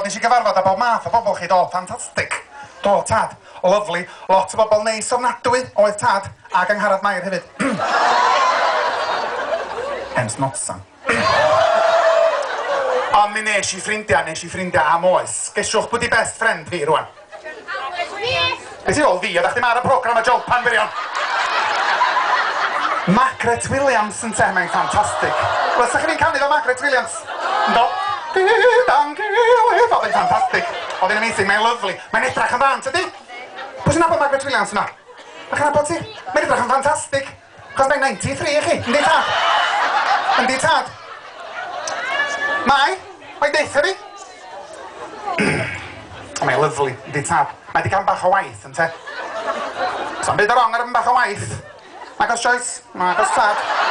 Nes i gyfarfod â bob math o bobl chi, do, ffantastig. Do, tad, lyfli, lot o bobl neis ofnadwy, oedd tad, ac Angharad Mair hefyd. Hence Notsan. Ond mi nes i ffrindiau, nes i ffrindiau am oes. Gesiwch pwy di best friend fi rwan? Be ti ôl fi? Oeddach chdi'm ar y program y jolpan wirion. Margaret Williams ynte, mae'n ffantastig. Wel, sa chi'n canu fel Margaret Williams? Ynddo? Gyda'n gilydd. Oedd hi'n ffantastig. Oedd hi'n amazing, mae'n lyfli. Mae'n edrach yn dda, tydi? Pwy sy'n nabod Margaret Williams yna? Ydych chi'n nabod ti? Mae'n edrach yn ffantastig. Chos mae'n 93 i chi, yndi tad? Yndi tad? Mae, mae'n deutha fi. Mae'n lyfli, yndi tad? Mae di gael bach o waith, ynte? So'n byd o wrong ar bach o waith. Nag oes Joyce? Nag oes tad.